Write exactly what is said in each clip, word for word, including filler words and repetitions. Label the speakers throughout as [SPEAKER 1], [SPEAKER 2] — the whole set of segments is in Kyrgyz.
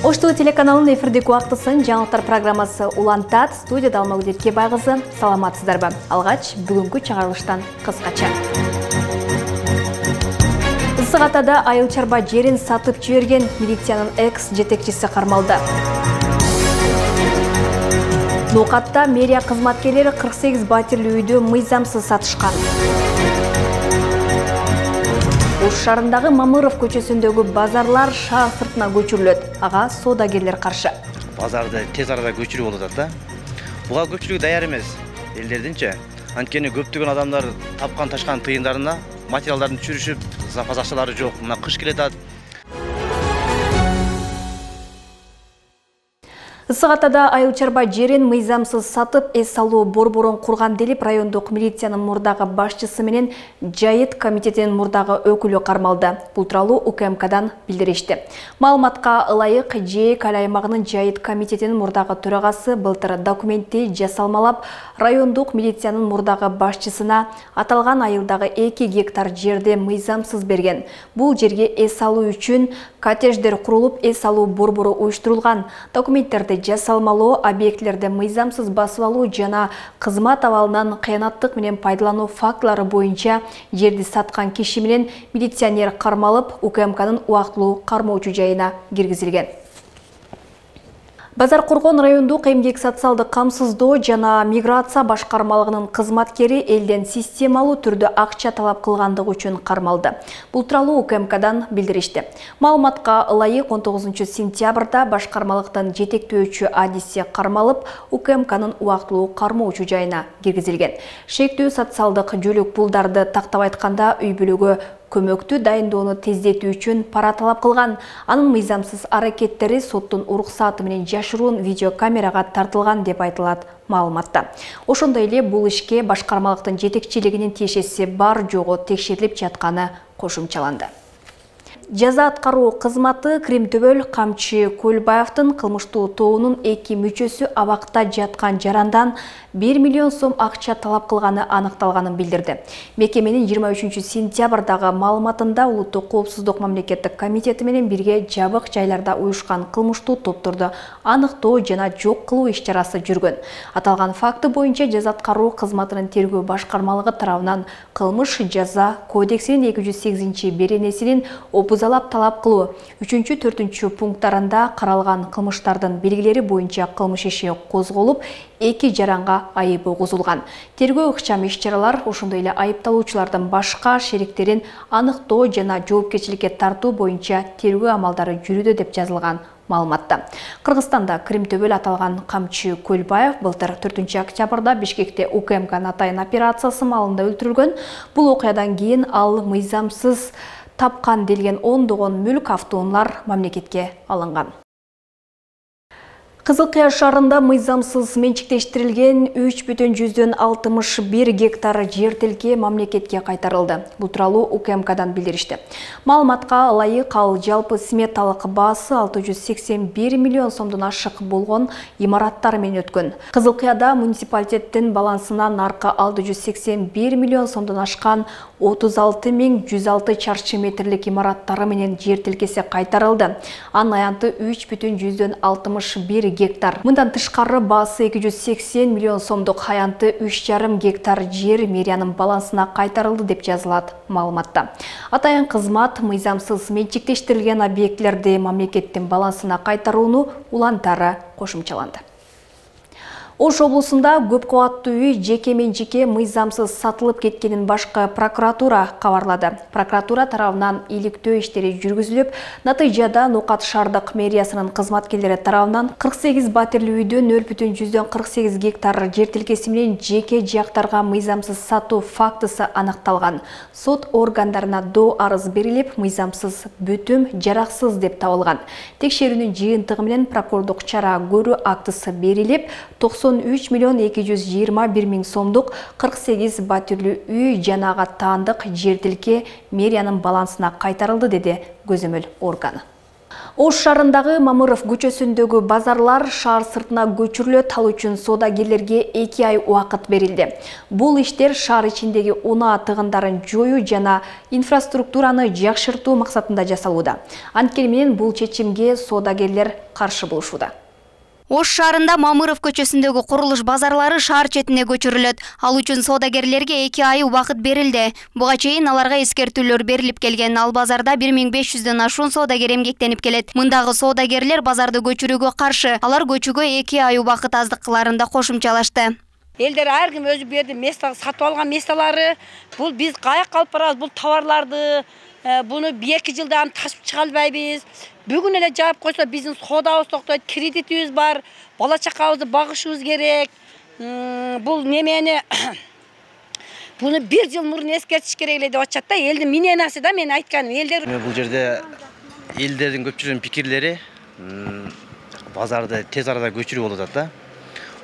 [SPEAKER 1] Ош ТВ телеканалынын эфирдеги убактысын жаңылыктар программасы улантат. Студияда Алмагүл Кебай кызы. Саламатсыздарбы? Алгач бүгүнкү чыгарылыштан кыскача. Ысык Атада айыл чарба жерин сатып жиберген милициянын экс жетекчиси кармалды. Нукатта мэрия кызматкерлери кырк сегиз батирлүү үйдү мыйзамсыз сатышкан. Ош шаарындагы Мамыров көчөсүндөгү базарлар шаар сыртына көчүрүлөт. Ага соодагерлер каршы.
[SPEAKER 2] Базарды тез арада көчүрүү болуп атат да. Буга көпчүлүгү даяр эмес. Элдердинче. Анткени көптөгөн адамдар тапкан ташкан тыйындарына материалдарын түшүрүшүп, запас акчалары жок. Мына кыш келатат.
[SPEAKER 1] Ысык Атада айыл чарба жерин мыйзамсыз сатып, эс алуу борборун курган делип райондук милициянын мурдагы башчысы менен Жайыт комитетинин мурдагы өкүлү кармалды. Бул тууралуу У К М Кдан билдиришти. Маалыматка ылайык, ЖЭК аймагынын Жайыт комитетинин мурдагы төрагасы былтыр документти жасалмалап, райондук милициянын мурдагы башчысына аталган айылдагы эки гектар жерди мыйзамсыз берген. Бул жерге эс алуу үчүн коттедждер курулуп, эс алуу борбору уюштурулган. Документтерди жасалмалоо, объектилерди мыйзамсыз басып алуу жана кызмат абалынан кыянаттык менен пайдалануу фактылары боюнча жерди саткан киши менен милиционер кармалып, У К М Кнын убактылуу кармоочу жайына киргизилген. Базар Коргон райондук эмгек социалдык камсыздоо жана миграция башкармалыгынын кызматкери элден системалуу түрдө акча талап кылгандыгы үчүн кармалды. Бул тууралуу У К М Кдан билдиришти. Маалыматка ылайык он тогузунчу сентябрда башкармалыктын жетектөөчү адиси кармалып, У К М Кнын убактылуу кармоочу жайына киргизилген. Шектүү социалдык жөлөк пулдарды тактап айтканда үй бүлөгө көмөктү дайындоону тездетүү үчүн пара талап кылган. Анын мыйзамсыз аракеттери соттун уруксаты менен жашыруун видеокамерага тартылган деп айтылат маалыматта. Ошондой эле бул ишке башкармалыктын жетекчилигинин тиешеси бар жогу текшерилип жатканы кошумчаланды. Жаза аткаруу кызматы Кримтөбөл Камчы Көлбаевдин кылмыштуу тобунун эки мүчөсү абакта жаткан жарандан бир миллион сом акча талап кылганы аныкталганын билдирди. Мекеменин жыйырма үчүнчү сентябрдагы маалыматында Улуттук коопсуздук мамлекеттик комитети менен бирге жабык жайларда уюшкан кылмыштуу топторду аныктоо жана жок кылуу иш-чарасы жүргөн. Аталган факты боюнча жаза аткаруу кызматынын тергөө башкармалыгы тарабынан кылмыш жаза кодексинин эки жүз сегизинчи беренесинин опузалап талап кылуу үчүнчү төртүнчү пункттарында каралган кылмыштардын белгилери боюнча кылмыш иши козголуп, эки жаранга айыбы козулган. Тергөө ыкчам иш-чаралар ошондой эле айыпталуучулардын башка шериктерин аныктоо жана жоопкерчиликке тартуу боюнча тергөө амалдары жүрүүдө деп жазылган маалыматта. Кыргызстанда Кримтөбөл аталган Камчы Көлбаев былтыр төртүнчү октябрда Бишкекте У К М К атайын операциясы маалында өлтүрүлгөн. Бул окуядан кийин ал мыйзамсыз тапкан делген ондогон мүлк автоунаалар мамлекетке алынган. Кызыл Кыя шаарында мыйзамсыз менчиктештирилген үч бүтүн жүздөн алтымыш бир гектар жер тилке мамлекетке кайтарылды. Бул тууралуу У К М Кдан билдиришти. Маалыматка ылайык ал жалпы сметалык баасы алты жүз сексен бир миллион сомдон ашык болгон имараттар менен өткөн. Кызыл Кыяда муниципалитеттин балансына наркы алты жүз сексен бир миллион сомдон ашкан отуз алты миң жүз алты чарчы метрлик имараттары менен жер тилкеси кайтарылды. Анын аянты үч бүтүн жүздөн алтымыш бир гектар. Мындан тышкары баасы эки жүз сексен миллион сомдук аянты үч жарым гектар жер мэриянын балансына кайтарылды деп жазылат маалыматта. Атайын кызмат мыйзамсыз менчиктештирилген объектилерди мамлекеттин балансына кайтарууну улантары кошумчаланды. Ош облусунда көп кабаттуу үй жеке менчикке мыйзамсыз сатылып кеткенин башкы прокуратура кабарлады. Прокуратура тарабынан иликтөө иштери жүргүзүлүп, натыйжада Нукат шаардык мэриясынын кызматкерлери тарабынан кырк сегиз батирлүү үйдө нөл бүтүн жүздөн кырк сегиз гектар жер тилкеси менен жеке жактарга мыйзамсыз сатуу фактысы аныкталган. Сот органдарына доо арыз берилип, мыйзамсыз бүтүм жараксыз деп табылган. Текшерүүнүн жыйынтыгы менен прокурордук чара көрүү актысы берилип, токсон үч миллион эки жүз жыйырма бир миң сомдук кырк сегиз батирлүү үй жана ага таандык жер тилке мэриянын балансына кайтарылды, деди көзөмөл органы. Ош шаарындагы Мамыров көчөсүндөгү базарлар шаар сыртына көчүрүлөт, ал үчүн соодагерлерге эки ай убакыт берилди. Бул иштер шаар ичиндеги унаа тыгындарын жоюу жана инфраструктураны жакшыртуу максатында жасалууда. Анткени менен бул чечимге соодагерлер каршы болушууда.
[SPEAKER 3] Ош шаарында Мамыров көчөсүндөгү курулуш базарлары шаар четине көчүрүлөт. Ал үчүн соодагерлерге эки ай убакыт берилди. Буга чейин аларга эскертүүлөр берилип келген. Ал базарда бир миң беш жүздөн ашуун соодагер эмгектенип келет. Мындагы соодагерлер базарды көчүрүүгө каршы. Алар көчүүгө эки ай убакыт аздык кыларын да кошумчалашты.
[SPEAKER 4] Элдер ар ким өзү берди место сатып алган местолары. Бул биз каякка алып барабыз бул товарларды. Буну эки жылдан ташып чыга албайбыз. Бүгүн эле жаап койсо биздин соодабыз токтойт, кредитибиз бар, бала чакабызды багышыбыз керек. Бул немени буну бир жыл мурун эскертиш керек эле деп атышат да. Элдин миненасы да мен айтканым. Элдер
[SPEAKER 2] бул жерде элдердин көпчүлүгүнүн пикирлери базарды тез арада көчүрүү болуп атат да.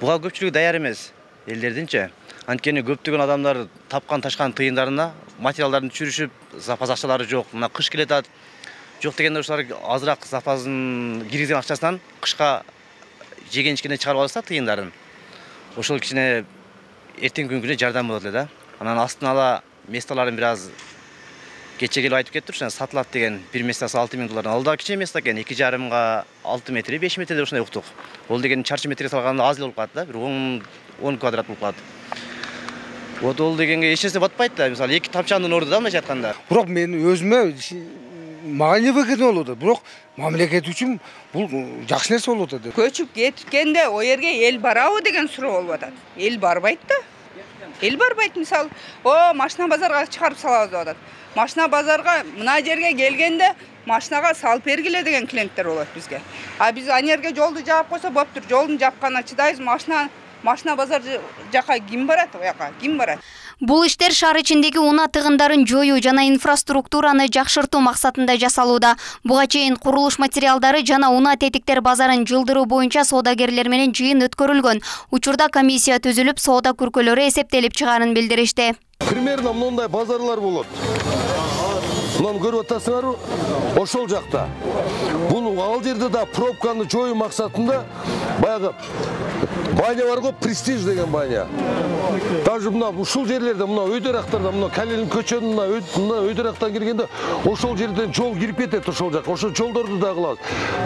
[SPEAKER 2] Буга көпчүлүгү даяр эмес элдердинчи. Анткени көптөгөн адамдар тапкан ташкан тыйындарына материалдарын түшүрүшүп, запас акчалары жок. Мына кыш келет. Жок дегенде ошолар азыраак запасын киргизген акчасынан кышка жеген ичкене чыгарып алса тыйындарын. Ошол кичине эртең күнгүнө жардам болот эле да. Анан астына ала местоларын бир аз кече келип айтып кетти, ошо сатылат деген бир местасы алты миң доллардан. Ал да кичине место экен, эки жарымга алты метр, беш метр деп ошондой уктук. Ол деген чарчы метрге салганда аз эле болуп калат да, бир он квадрат болуп калат. Вот ол дегенге эч нерсе батпайт да. Мисалы эки тапчандын орду да мындайча айтканда.
[SPEAKER 5] Бирок мен өзүмө мага не выгодно болуп атат. Бирок мамлекет үчүн бул жакшы нерсе болуп атат.
[SPEAKER 6] Көчүп кеткенде о жерге эл барабы деген суроо болуп атат. Эл барбайт да. Эл барбайт, мисалы, о машина базарга чыгарып салабыз деп атат. Машина базарга мына жерге келгенде машинага салып бергиле деген клиенттер болот бизге. А биз аны жерге жолду жаап койсо болуптур. Жолдун жапканына чыдайбыз, машина машина базар жака ким барат, о жака ким барат?
[SPEAKER 3] Бул иштер шаар ичиндеги унаа тыгындарын жоюу жана инфраструктураны жакшыртуу максатында жасалууда. Буга чейин курулуш материалдары жана унаа тетиктер базарын жылдыруу боюнча соодагерлер менен жыйын өткөрүлгөн. Учурда комиссия түзүлүп, соода күркөлөрү эсептелип чыгаарын билдиришти.
[SPEAKER 7] Примерно мындай базарлар болот. Мынаны көрүп атасыңарбы? Ошол жакта. Бул ал жерде да пробканы жоюу максатында баягы баня бар го, Престиж деген баня. Даже мына ушул жерлерде, мына өйдөрактарда, мына Калин көчөнүн мына өйдөрактан киргенде ошол жерден жол кирип кетет ошол жак. Ошол жолдорду да кылабыз.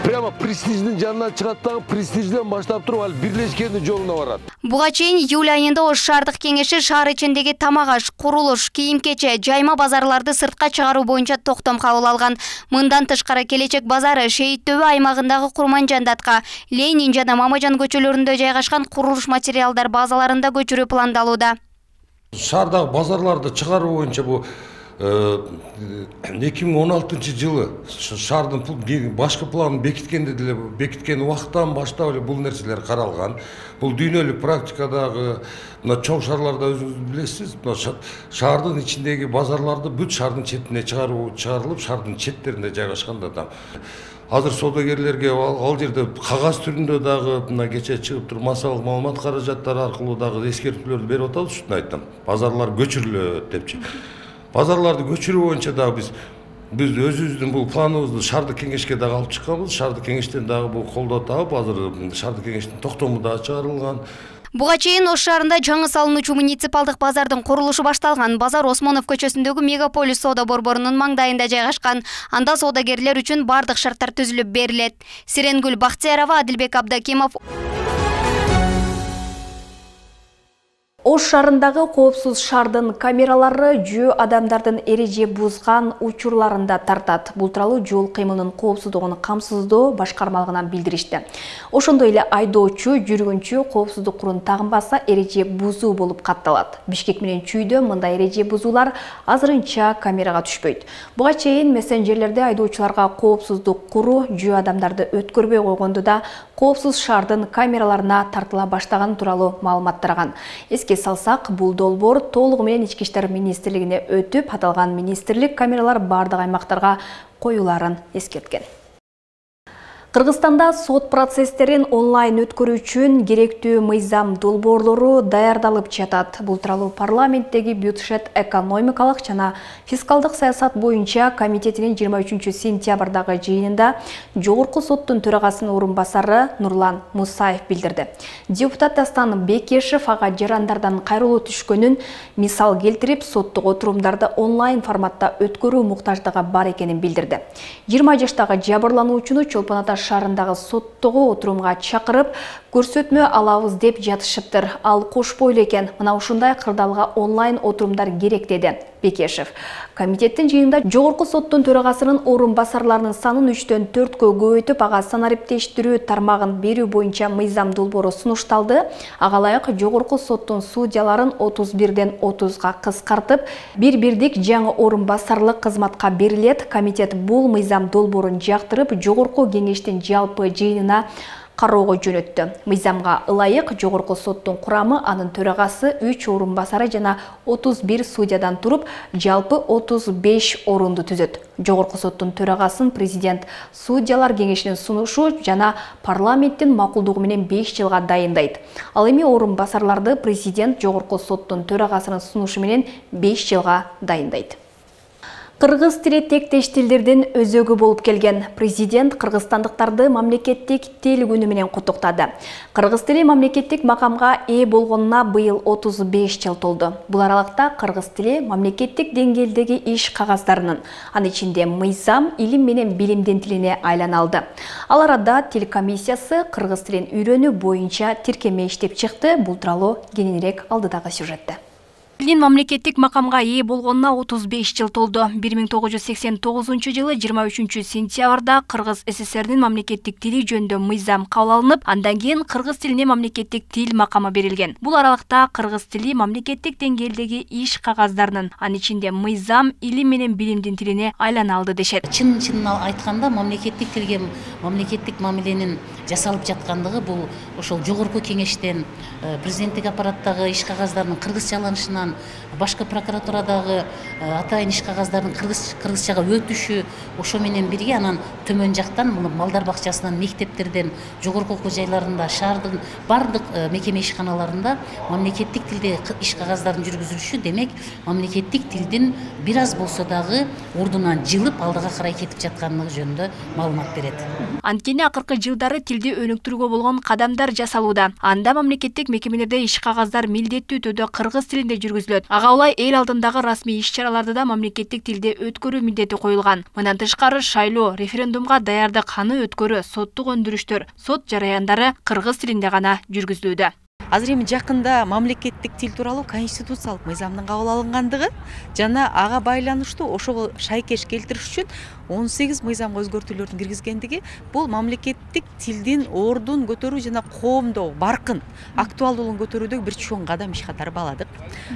[SPEAKER 7] Прямо Престиждин жанына чыгат дагы, Престижден баштап туруп ал бирлешкендин жолуна барат.
[SPEAKER 3] Буга чейин июль айында Ош шаардык кеңеши шаар ичиндеги тамак-аш, курулуш, кийим-кече, жайма базарларды сыртка чыгаруу боюнча токтом кабыл алган. Мындан тышкары Келечек базары Шейит Төбө аймагындагы Курманжандатка, Ленин жана Мамажан көчөлөрүндө жайгашкан курулуш материалдар базаларында көчүрүү пландалууда.
[SPEAKER 8] Шаардагы базарларды чыгаруу боюнча бу эки миң он алтынчы жылы шаардын башкы планын бекиткенде деле бекиткен убакыттан баштап эле бул нерселер каралган. Бул дүйнөлүк практикадагы мына чоң шаарларда өзүңүз билесиз, мына шаардын ичиндеги базарларды бүт шаардын четине чыгаруу чыгарылып, шаардын четтеринде жайгашканда да. Азыр соодагерлерге ал жерде кагаз түрүндө дагы мына кече чыгып туруп массалык маалымат каражаттары аркылуу дагы эскертүүлөрдү берип атабыз, ушуну айттым. Базарлар көчүрүлөт депчи. Базарларды көчүрүү боюнча дагы биз биз өзүбүздүн бул планыбызды шаардык кеңешке дагы алып чыкканбыз. Шаардык кеңештен дагы бул колдоо таап, азыр шаардык кеңештин токтому дагы чыгарылган.
[SPEAKER 3] Буга чейин Ош шаарында жаңы салынуучу муниципалдык базардын курулушу башталган. Базар Осмонов көчөсүндөгү Мегаполис соода борборунун маңдайында жайгашкан. Анда соодагерлер үчүн бардык шарттар түзүлүп берилет. Сиренгүл Бактиярова, Адилбек Абдакимов.
[SPEAKER 1] Ош шаарындагы коопсуз шаардын камералары жөө адамдардын эреже бузган учурларында тартат. Бул тууралуу жол кыймылынын коопсуздугун камсыздоо башкармалыгынан билдиришти. Ошондой эле айдоочу, жүргүнчү коопсуздук курун тагынбаса эреже бузуу болуп катталат. Бишкек менен Чүйдө мындай эреже бузуулар азырынча камерага түшпөйт. Буга чейин мессенджерлерде айдоочуларга коопсуздук куру жөө адамдарды өткөрбөй койгонду да коопсуз шаардын камераларына тартыла баштаган тууралуу маалымат тараган. Эске салсак, бул долбоор толугу менен Ички иштер министрлигине өтүп, аталган министрлик камералар бардык аймактарга коюларын эскерткен. Кыргызстанда сот процесстерин онлайн өткөрүү үчүн керектүү мыйзам долбоорлору даярдалып жатат. Бул тууралуу парламенттеги бюджет экономикалык жана фискалдык саясат боюнча комитетинин жыйырма үчүнчү сентябрдагы жыйынында Жогорку соттун төрагасынын орун басары Нурлан Мусаев билдирди. Депутат Дастан Бекешев ага жарандардан кайрылуу түшкөнүн мисал келтирип, соттук отурумдарды онлайн форматта өткөрүү муктаждыгы бар экенин билдирди. жыйырма жаштагы жабырлануучуну Чолпон Ата шаарындагы соттогу отурумга чакырып, көрсөтмө алабыз деп жатышыптыр. Ал кошпойлу экен. Мына ушундай кырдаалга онлайн отурумдар керек деди Бекешев. Комитеттин жыйынында Жогорку соттун төрагасынын орун басарларынын санын үчтөн төрткө көбөйтүп, ага санариптештирүү тармагын берүү боюнча мыйзам долбоору сунушталды. Ага ылайык Жогорку соттун судьяларын отуз бирден отузга кыскартып, бир бирдик жаңы орун басарлык кызматка берилет. Комитет бул мыйзам долбоорун жактырып, Жогорку кеңештин жалпы жыйынына кароого жөнөттү. Мыйзамга ылайык Жогорку соттун курамы, анын төрагасы, үч орун басары жана отуз бир судьядан туруп, жалпы отуз беш орунду түзөт. Жогорку соттун төрагасын президент судьялар кеңешинин сунушу жана парламенттин макулдугу менен беш жылга дайындайт. Ал эми орун басарларды президент Жогорку соттун төрагасынын сунушу менен беш жылга дайындайт. Кыргыз тили тектеш тилдердин өзөгү болуп келген. Президент кыргызстандыктарды мамлекеттик тил күнү менен куттуктады. Кыргыз тили мамлекеттик макамга ээ болгонуна быйыл отуз беш жыл толду. Бул аралыкта кыргыз тили мамлекеттик деңгээлдеги иш кагаздарынын, анын ичинде мыйзам, илим менен билимдин тилине айлана алды. Ал арада тил комиссиясы кыргыз тилин үйрөнүү боюнча тиркеме иштеп чыкты. Бул тууралуу кененирээк алдыдагы сюжетте. Тилдин мамлекеттик макамга ээ болгонуна отуз беш жыл толду. бир миң тогуз жүз сексен тогузунчу жылы жыйырма үчүнчү сентябрда Кыргыз СССРдин мамлекеттик тили жөнүндө мыйзам кабыл алынып, андан кийин кыргыз тилине мамлекеттик тил макамы берилген. Бул аралыкта кыргыз тили мамлекеттик деңгээлдеги иш кагаздарынын, анын ичинде мыйзам, илим менен билимдин тилине айлана алды дешет.
[SPEAKER 9] Чын-чынын айтканда мамлекеттик тилге мамлекеттик мамиленин жасалып жаткандыгы бул ошол жогорку кеңештен, президенттик аппараттагы иш кагаздарынын кыргызчаланышынан, башкы прокуратурадагы атайын иш кагаздардын кыргыз кыргызчага өтүшү, ошо менен бирге анан төмөн жактан малдар бакчасынан, мектептерден, жогорку окуу жайларында, шаардын бардык мекеме ишканаларында мамлекеттик тилде иш кагаздардын жүргүзүлүшү, демек мамлекеттик тилдин бир аз болсо дагы ордунан жылып алдыга карай кетип жаткандыгы жөнүндө маалымат берет.
[SPEAKER 1] Анткени акыркы жылдары тилди өнүктүрүүгө болгон кадамдар жасалууда. Анда мамлекеттик мекемелерде иш кагаздар милдеттүү түрдө кыргыз тилинде жүргүзүлөт. Ага улай эл алдындагы расмий иш-чараларды да мамлекеттик тилде өткөрүү милдети коюлган. Мындан тышкары шайлоо, референдумга даярдык, аны өткөрүү, соттук өндүрүштөр, сот жараяндары кыргыз тилинде гана жүргүзүлүүдө.
[SPEAKER 10] Азыр эми жакында мамлекеттик тил тууралуу конституциялык мыйзамдын кабыл алынгандыгы жана ага байланыштуу ошого шайкеш келтириш үчүн он сегиз мыйзамга өзгөртүүлөрдүн киргизгендиги бул мамлекеттик тилдин ордун көтөрүү жана коомдо баркын, актуалдуулугун көтөрүүдөгү бир чоң кадам иш катары бааладык.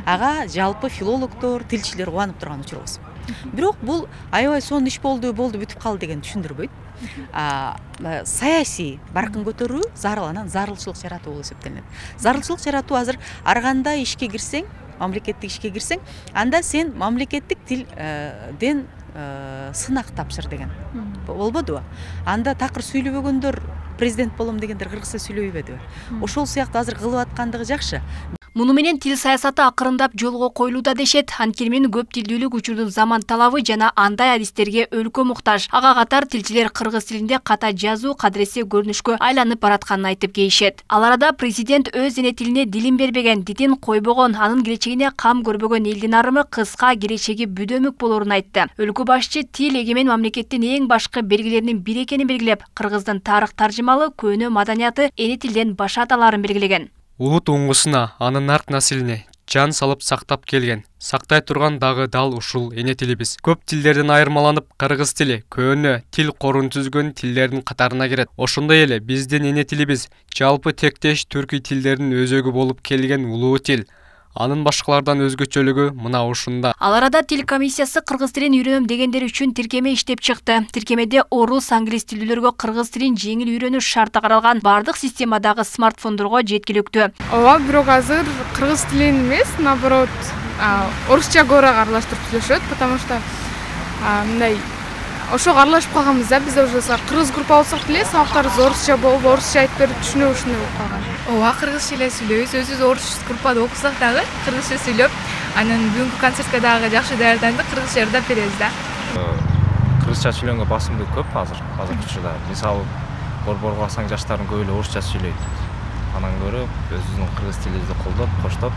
[SPEAKER 10] Ага жалпы филологдор, тилчилер кубанып турган учурубуз. Бирок бул аябай сонун иш болду, болду бүтүп калды деген түшүндүрбөйт. Саясий баркын көтөрүү зарыл, анан зарылчылык жаратуу болуп эсептелет. Зарылчылык жаратуу азыр ар кандай ишке кирсең, мамлекеттик ишке кирсең, анда сен мамлекеттик тилден сынак тапшыр деген. Болбодубу? Анда такыр сүйлөбөгөндөр президент болом дегендер кыргызча сүйлөбөйбөдүбү? Ошол сыяктуу азыр кылып аткандыгы жакшы.
[SPEAKER 1] Муну менен тил саясаты акырындап жолго коюлууда дешет. Анткени көп тилдүүлүк учурдун заман талабы жана андай адистерге өлкө муктаж. Ага катар тилчилер кыргыз тилинде ката жазуу кадыресе көрүнүшкө айланып баратканын айтып кейишет. Ал арада президент өз эне тилине дилин бербеген, дитин койбогон, анын келечегине кам көрбөгөн элдин арымы кыска, келечеги бүдөмүк болоорун айтты. Өлкө башчы тил эгемен мамлекеттин эң башкы белгилеринин бири экенин белгилеп, кыргыздын тарых таржымалы, көнө маданияты, эне тилден башаталарын белгилеген.
[SPEAKER 11] Улут уңгусуна, анын арт населине жан салып сактап келген. Сактай турган дагы дал ушул эне тилибиз. Көп тилдерден айырмаланып, кыргыз тили көөнө тил корун түзгөн тилдердин катарына кирет. Ошондой эле биздин эне тилибиз жалпы тектеш түркүй тилдердин өзөгү болуп келген улуу тил. Анын башкалардан өзгөчөлүгү мына ушунда.
[SPEAKER 1] Ал арада тил комиссиясы кыргыз тилин үйрөнөм дегендер үчүн тиркеме иштеп чыкты. Тиркемеде орус, англис тилдүүлөргө кыргыз тилин жеңил үйрөнүш шарты каралган, бардык системадагы смартфондорго жеткиликтүү.
[SPEAKER 12] Ооба, бирок азыр кыргыз тилин эмес, наоборот, орусча көбүрөөк аралаштырып сүйлөшөт, потому что мындай ошого аралашып калганбыз да. Биз уже кыргыз группа болсок деле, сабактарыбыз орусча болуп, орусча айтып берип түшүнүп ушундай болуп калган.
[SPEAKER 13] Ооба, кыргызча эле сүйлөйбүз. Өзүбүз орус группада окусак дагы кыргызча сүйлөп, анан бүгүнкү концертке дагы жакшы даярдандык, кыргызча ырдап беребиз да.
[SPEAKER 14] Кыргызча сүйлөгөнгө басымдуу көп азыр, азыркы учурда. Мисалы, борборго алсаң жаштардын көбү эле орусча сүйлөйт. Анан көрө өзүбүздүн кыргыз тилибизди колдоп, коштоп,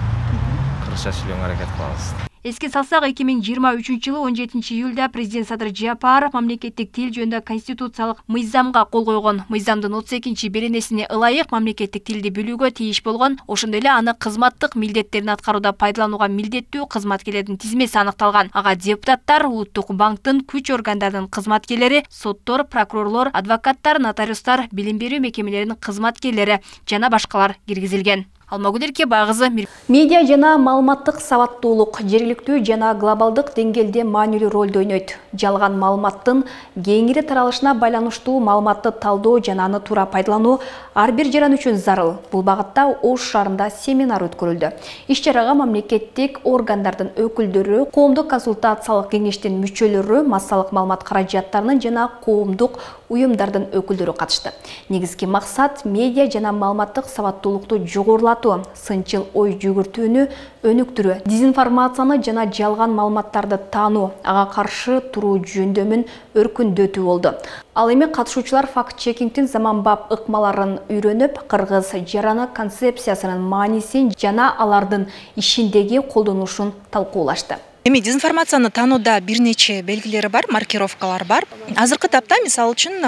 [SPEAKER 14] кыргызча сүйлөгөнгө аракет кылабыз.
[SPEAKER 1] Эске салсак, эки миң жыйырма үчүнчү жылы он жетинчи июлда президент Садыр Жапаров мамлекеттик тил жөнүндө конституциялык мыйзамга кол койгон. Мыйзамдын отуз экинчи беренесине ылайык мамлекеттик тилди билүүгө тийиш болгон, ошондой эле аны кызматтык милдеттерин аткарууда пайдаланууга милдеттүү кызматкерлердин тизмеси аныкталган. Ага депутаттар, Улуттук банктын, күч органдарынын кызматкерлери, соттор, прокурорлор, адвокаттар, нотариустар, билим берүү мекемелеринин кызматкерлери жана башкалар киргизилген. Алмагүл Эркебайкызы. Медиа жана маалыматтык сабаттуулук жергиликтүү жана глобалдык деңгээлде маанилүү ролду ойнойт. Жалган маалыматтын кеңири таралышына байланыштуу маалыматты талдоо жана аны туура пайдалануу ар бир жаран үчүн зарыл. Бул багытта Ош шаарында семинар өткөрүлдү. Иш-чарага мамлекеттик органдардын өкүлдөрү, коомдук консультациялык кеңештин мүчөлөрү, массалык маалымат каражаттарынын жана коомдук уюмдардын өкүлдөрү катышты. Негизги максат медиа жана маалыматтык сабаттуулукту жогорулатуу, сынчыл ой жүгүртүүнү өнүктүрүү, дезинформацияны жана жалган маалыматтарды таануу, ага каршы туруу жөндөмүн өркүндөтүү болду. Ал эми катышуучулар факт-чекингдин заманбап ыкмаларын үйрөнүп, кыргыз жараны концепциясынын маанисин жана алардын ишиндеги колдонулушун талкуулашты.
[SPEAKER 15] Эми дезинформацияны таанууда бир нече белгилери бар, маркировкалар бар. Азыркы тапта мисалы үчүн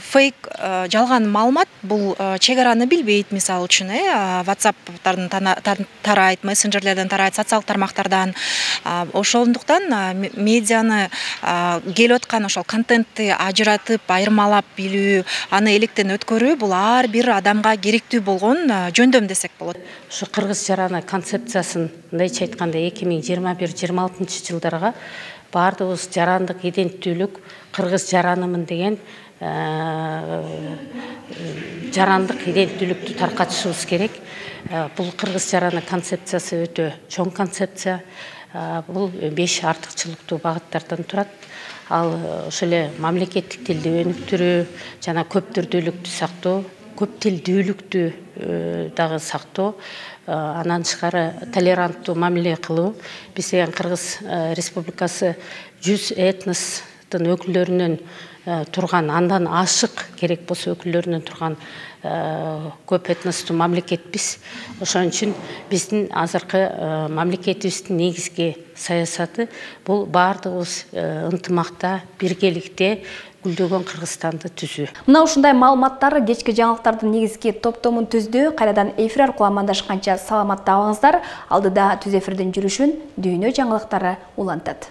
[SPEAKER 15] фейк, жалган маалымат бул чек араны билбейт. Мисалы үчүн WhatsApp-тардын тарайт, мессенджерлерден тарайт, социалдык тармактардан. Ошондуктан медианы келип аткан ошол контентти ажыратып, айырмалап билүү, аны электен өткөрүү бул ар бир адамга керектүү болгон жөндөм десек болот.
[SPEAKER 16] Ушу кыргыз жараны концепциясын мындайча айтканда эки миң жыйырма бир жыйырма алтынчы жылдарга баардыгыбыз жарандык иденттүүлүк кыргыз жаранымын деген жарандык иденттүүлүктү таркатышыбыз керек. Бул кыргыз жараны концепциясы өтө чоң концепция. Бул беш артыкчылыктуу багыттардан турат. Ал ошол эле мамлекеттик тилди өнүктүрүү жана көп түрдүүлүктү сактоо, көп тилдүүлүктү дагы сактоо, анан тышкары толеранттуу мамиле кылуу. Биз деген Кыргыз Республикасы жүз этностун өкүлдөрүнөн турган, андан ашык керек болсо өкүлдөрүнөн турган көп этностуу мамлекетпиз. Ошон үчүн биздин азыркы мамлекетибиздин негизги саясаты бул баардыгыбыз ынтымакта, биргеликте гүлдөгөн Кыргызстанды түзүү.
[SPEAKER 1] Мына ушундай маалыматтар кечки жаңылыктардын негизги топтомун түздү. Кайрадан эфир аркылуу амандашканча саламатта калыңыздар. Алдыда түз эфирдин жүрүшүн дүйнө жаңылыктары улантат.